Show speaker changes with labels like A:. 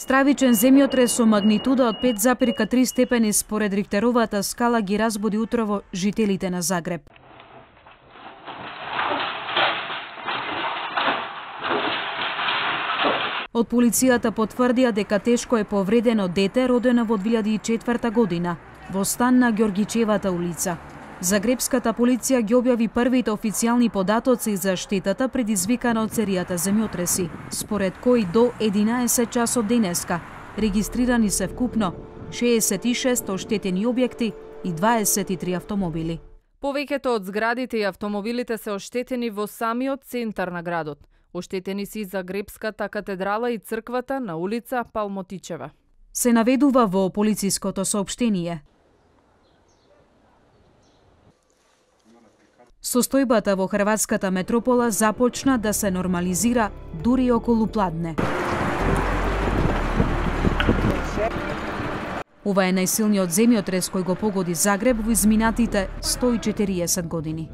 A: Стравичен земјотрес со магнитуда од 5,3 степени според Рихтеровата скала ги разбуди утрово жителите на Загреб. Од полицијата потврдија дека тешко е повредено дете родено во 2004 година во стан на Ѓоргичевата улица. Загребската полиција ги објави првите официјални податоци за штетата предизвикана од серијата земјотреси, според кои до 11 часот денеска регистрирани се вкупно 66 оштетени објекти и 23 автомобили.
B: Повеќето од зградите и автомобилите се оштетени во самиот центар на градот. Оштетени си Загребската катедрала и црквата на улица Палмотичева.
A: Се наведува во полициското соопштение. Состојбата во хрватската метропола започна да се нормализира дури околу пладне. Ова е најсилниот земјотрес кој го погоди Загреб во изминатите 140 години.